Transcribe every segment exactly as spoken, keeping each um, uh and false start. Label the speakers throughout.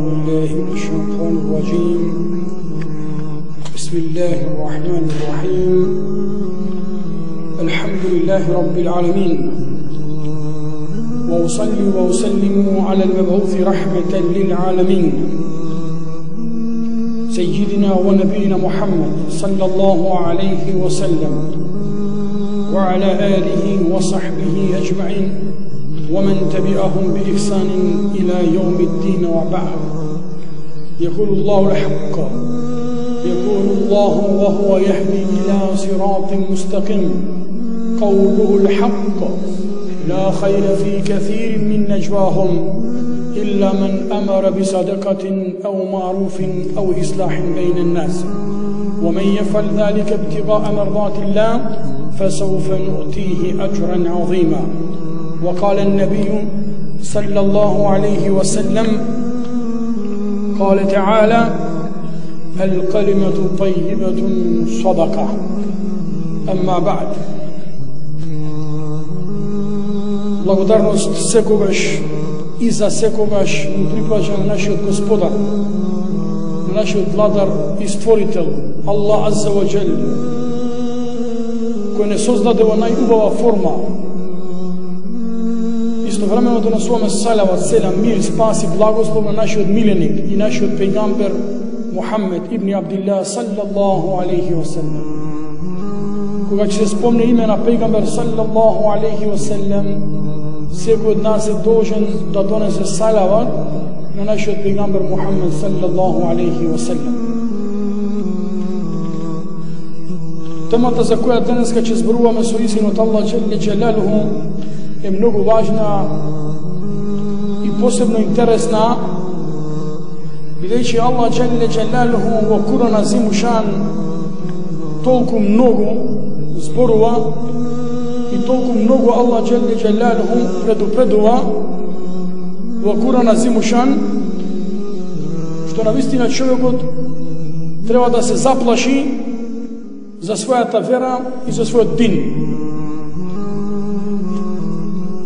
Speaker 1: بالله من الشيطان الرجيم. بسم الله الرحمن الرحيم. الحمد لله رب العالمين، وأصلي وأسلم على المبعوث رحمة للعالمين سيدنا ونبينا محمد صلى الله عليه وسلم وعلى آله وصحبه أجمعين ومن تبعهم بإحسان إلى يوم الدين وبعد. يقول الله الحق، يقول الله وهو يهدي إلى صراط مستقيم، قوله الحق، لا خير في كثير من نجواهم إلا من أمر بصدقة أو معروف أو إصلاح بين الناس، ومن يفعل ذلك ابتغاء مرضات الله فسوف نؤتيه أجرا عظيما. وقال النبي صلى الله عليه وسلم، قال تعالى: الكلمة طيبة صدقة. أما بعد، благодарност секогаш и за секогаш му припаѓа на нашиот Господар, на нашиот Владар и Створител, Аллах Азза ва Джел, кој не создаде во најубава форма. Истовремено донесуваме салават, селам, мир, спас и благослов на нашиот миленик и нашиот пејгамбер Мухаммед ибн Абдилlah саллаллаху алейхи ва саллем. Кога ќе се спомне име на пејгамбер саллаллаху алейхи ва саллем, секој од нас е должен да донесе салават на нашиот пејгамбер Мухаммед саллаллаху алейхи ва саллем. Темата за која денеска ќе зборуваме со изинот Аллах Джелле Джелалуху е многу важна и посебно интересна, бидејќи Аллах Джелле Джелалуху во Куран Азимушан толку многу зборува и толку многу Аллах Джелле Джелалуху предупредува во Куран Азимушан, што навистина човекот треба да се заплаши за својата вера и за својот дин.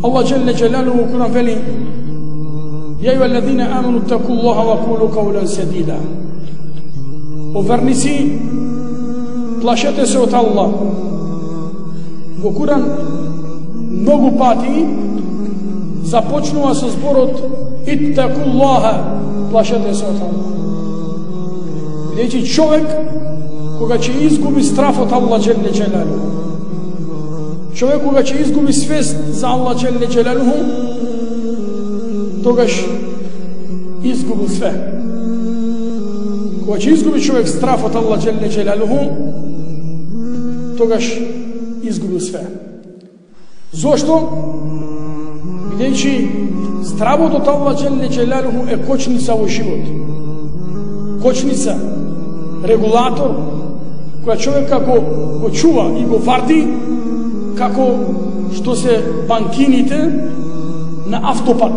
Speaker 1: Аллах Джелле Джелалуху во Куран вели: يا أيها الذين آمنوا اتقوا الله وقولوا قولا سديدا. О верници, плашете се од Аллах. Во Куран многу пати започнува со зборот иттакуллаха, плашете се од Аллах. Бидејќи човек кога ќе изгуби страф од Аллах Джелле Джелалуху, човек кога ќе изгуби свест за Аллах Джелле Джелалуху, тогаш изгубил све. Кога ќе изгуби човек страф од Аллах Джелле Джелалуху, тогаш изгубил све. Зошто? Бидејќи стравот од Аллах Джелле Джелалуху е кочница во живот. Кочница, регулатор, која човека го, го чува и го варди, како што се банкините на автопат.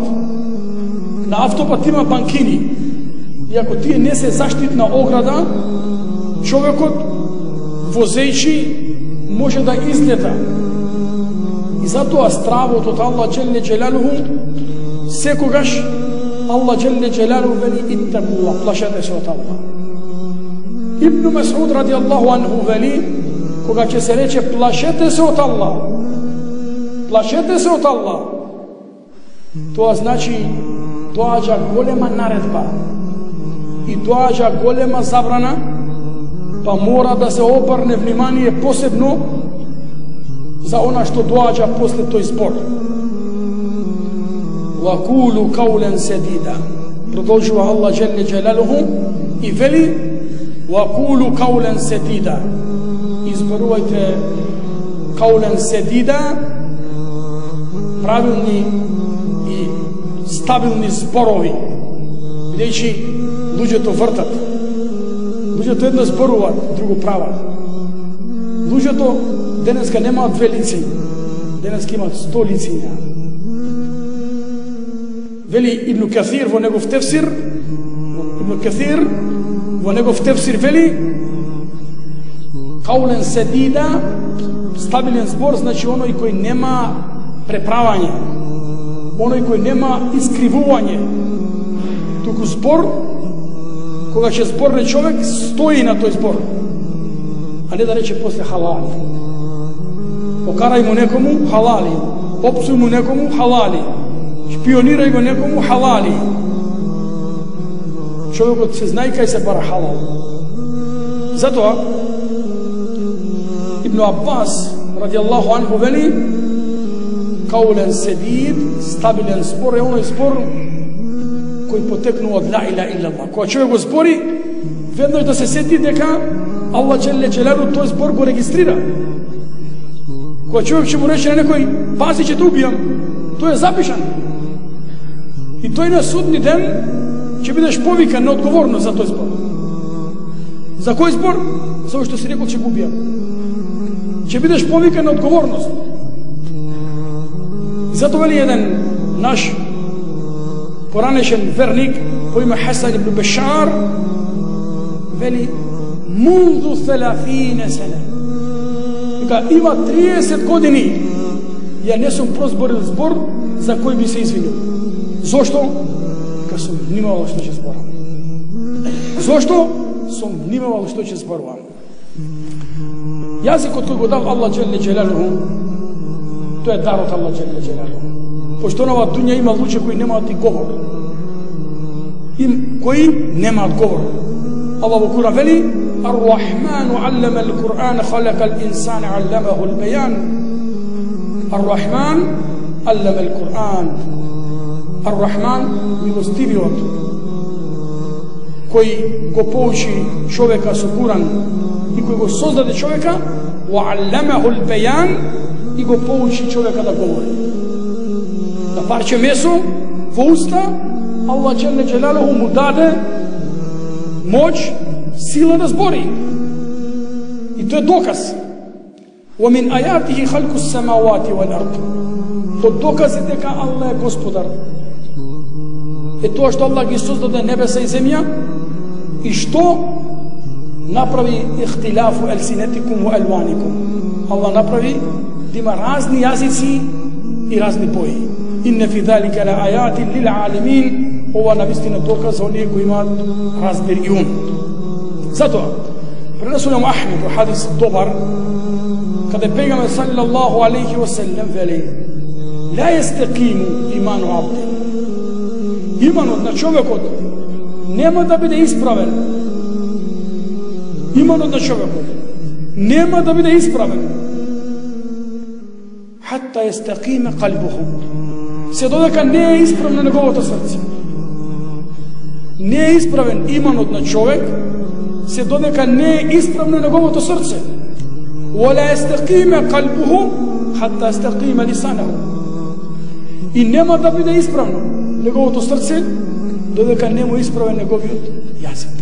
Speaker 1: На автопат има банкини. И ако тие не се заштитна ограда, човекот возејќи може да излета. И затоа стравот од Аллах Джелле Джелалуху секогаш Аллах Джелле Джелалуху вели иттакуллах, плашете се од Аллах. Ибн Мас'уд ради Аллаху анху вели, кога ќе се рече плашете се од Аллах, плашете се од Аллах, тоа значи доаѓа голема наредба и доаѓа голема забрана, па мора да се обрне внимание посебно за она што доаѓа после тој збор. Вакулу каулен седида, продолжува Аллах Джелле Джелалуху и вели: вакулу каулен седида, изборувајте каулен седида, правилни и стабилни зборови, бидејќи луѓето вртат, луѓето едно зборуваат, друго прават. Луѓето денеска немаат две лици, денеска имаат сто лициња. Вели Ибн Каthир во негов тефсир, Ибн Каthир во негов тефсир вели: каулен седида, стабилен збор, значи оној кој нема преправање, оној кој нема искривување, туку збор кога ќе зборне човек стои на тој збор, а не да рече после халали. Покарај му некому халали, попсуј му некому халали, шпионирај го некому халали. Човекот се знае кај се бара халал. Затоа Ибн Аббас радијаллаху анху вели: каулен седид, стабилен спор е оној спор кој потекнува од ла иляха илlallah. Кога човек го збори, веднаш да се сети дека Аллах џелле џелалу тој збор го регистрира. Кога човек ќе му рече на некој: пази, ќе те убијам, тој е запишан. И тој на судни ден ќе бидеш повикан на одговорност за тој збор. За кој збор? За кој што си рекол ќе го убијам. Ќе бидеш повикан на одговорност. Зато вели еден наш поранешен верник по име Хасан ибн Бешар, вели: мунзу ثلاثين сена, дека има триесет години ја не сум прозборил збор за кој би се извинил. Зошто? Дека сум внимавал што ќе зборам. Зошто? Сум внимавал што ќе зборувам. Јазикот кој го дал Аллах џелле џелалуху, тоа е дар од Аллах џелле џелалуху. Пошто на оваа дуња има луѓе кои немаат и говор. Им кои немаат говор. Аллах во Куран вели: Ар-Рахману аллама ал-Кур'ан, халака ал-инсана алламаху al-баян. Ар-Рахман аллама al-Кур'ан. Ар-Рахман, милостивиот, кој го поучи човека со Куран и кој го создаде човека, ва алламаху al-баян, и го поучи човека да говори. Да парче месо во уста, Аллах џелле џелалуху му даде моќ, сила да збори. И тоа е доказ. Wa min ayatihi khalqu as-samawati wal ard. Тоа докази дека Аллах е господар. Е тоа што Аллах ги создаде небеса и земја и што направи ихтилафу алсинатикум ва алваникум. Аллах направи да има разни јазици и разни бои. Инна фи залика ла ајати лил алимин. Ова навистина доказ за оние кои имаат разбир и ум. Затоа пренесува Ахмед во хадис добар, каде пегамбер саллаллаху алейхи ва саллем вели: ла јастақиму иману абди. Иманот на човекот нема да биде исправен. Иманот на човекот нема да биде исправен хатта јастақиме қалбуху, се додека не е исправно неговото срце. Не е исправен иманот на човек се додека не е исправно неговото срце. Вала јастақиме қалбуху хатта јастақиме лисанаху. И нема да биде исправно неговото срце додека не му исправен неговиот јазик.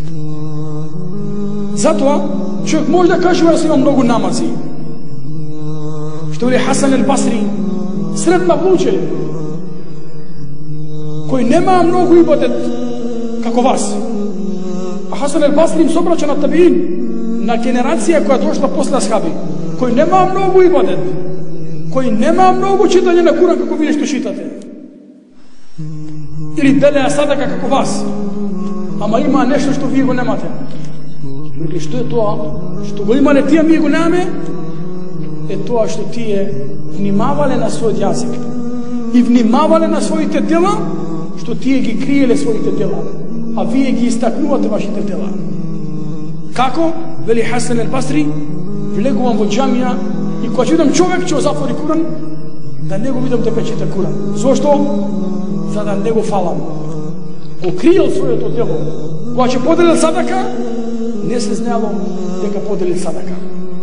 Speaker 1: Затоа човек може да каже да има многу намази. Што вели Хасан ал-Басри, средна луѓе кој нема многу ибадет како вас. А Хасан ал-Басри им собрача на табиин, на генерација која дошла после асхаби, кој нема многу ибадет, кој нема многу читање на Куран како вие што читате, или делеа садака како вас, ама има нешто што вие го немате. Или што е тоа што го имале тие, ние го немаме? Е тоа што тие внимавале на својот јазик и внимавале на своите дела, што тие ги криеле своите дела, а вие ги истакнувате вашите дела. Како? Вели Хасан ал-Басри, влегувам во џамија и кога читам човек ќе затвори Куран, да не го видам дека чита Куран. Зошто? За да не го фалам. Го криел своето дело. Кога ќе поделил садака, не се знаело дека поделил садака.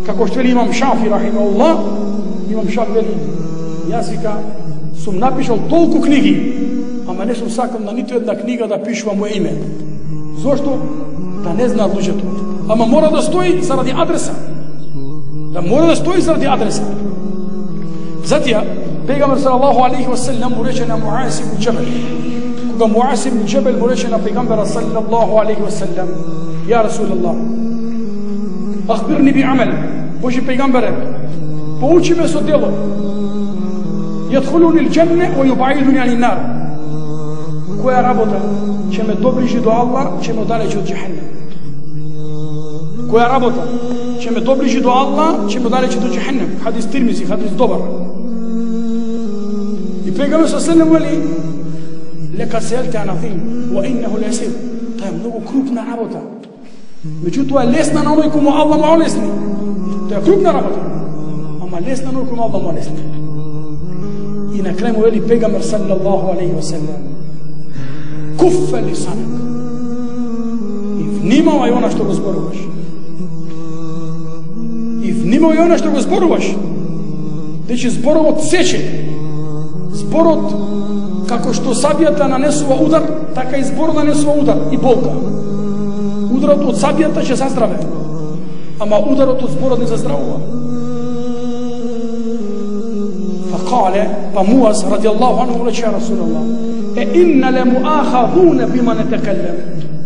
Speaker 1: Како што вели имам Шафи рахимахуллах, имам Шафи вели: јас вика сум напишал толку книги, ама не сум сакал на ниту една книга да пишувам моје име. Зошто? Да не знаат луѓето. Ама мора да стои заради адреса. Да мора да стои заради адреса. Затоа пегамбер салаллаху алейхи ва саллем му рече на Муаз ибн Џабел, кога Муаз ибн Џабел му рече на пегамбера салаллаху алейхи ва саллем: ја Расулаллах, ахбирни би амел, Божи пегамбере, поучи ме со дело, јадхулуни л-џанне ва јубаидуни ани нар, која работа ќе ме доближи до Аллах, ќе ме оддалечи од џехеннем. Која работа ќе ме доближи до Аллах, ќе ме оддалечи до џехеннем. Хадис Тирмизи, хадис добар. И пегамберот саллаллаху алейхи вели: "Лека селта аназим, ва иннаху лесир." Тоа е многу крупна работа. Меѓутоа е лесна на оној кому Аллах му олесни. Тоа е крупна работа, ама лесна на оној кому Аллах му олесни. И на крај му вели пегамбер саллаллаху алейхи ва саллем: "Куффа лисанак." И внимавај она што го зборуваш. И внимавај она што го зборуваш. Дече зборовот сече. Зборот, како што сабијата нанесува удар, така и зборот нанесува удар и болка. Ударот од сабијата ќе заздраве, ама ударот од зборот не заздравува. Факале, па Муаз радијаллаху анху рече: "Я Расулаллах, е инна лемуахазуна бима нетекеллем."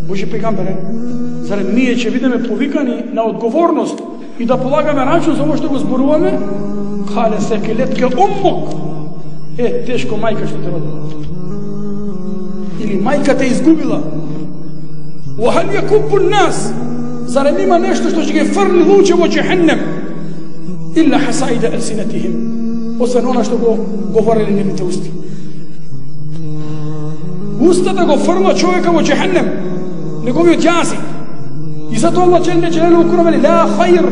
Speaker 1: Божи пегамбере, зарем ние ќе бидеме повикани на одговорност и да полагаме рачун за ово што го зборуваме? Кале секелетке уммук. Е, тешко мајка што те родила. Или мајка те изгубила. Вахал якубу нас. Зарем има нешто што ќе ги фрли луѓе во џехеннем? Илла хасаида алсинатихим. Освен она што го говорели нивните усти. Устата го фрла човека во џехеннем, неговиот јазик. И затоа Аллах џеле џелелу Куран вели: "Ла хајр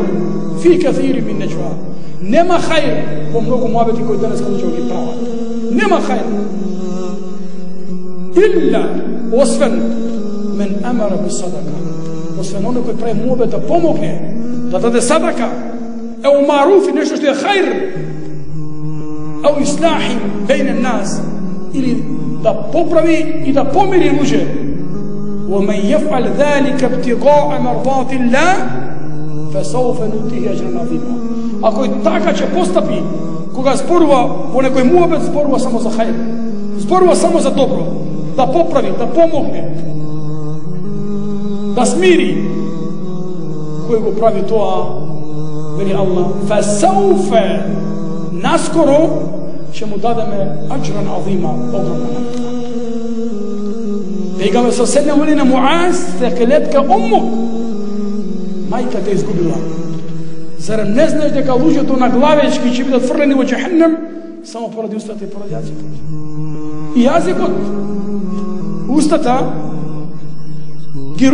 Speaker 1: фи каثير мин наџва." Нема хајр во многу муабети кои денес луѓе ги прават. Нема хајр. Илла, освен мен амара би садака. Освен оној кој прави муабет да помогне, да даде садака, е у маруф и нешто што е хајр, ау ислахи бейн нас, или да поправи и да помири луѓе. ومن يفعل ذلك ابتغاء مرضات الله فسوف نؤتيه اجرا عظيما. Ако и така ќе постапи, кога зборува во некој муабет, зборува само за хајр, зборува само за добро, да поправи, да помогне, да смири, кој го прави тоа, вели Аллах, فسوف наскоро ќе му дадеме аџран азима, огромна награда. Пегамбер саллаллаху алейхи ва саллем на Муаз: "Секелетка уммук." Мајка те изгубила. Зарем не знаеш дека луѓето на главечки ќе бидат фрлени во џехеннем само поради устата и поради јазикот? И јазикот, устата ги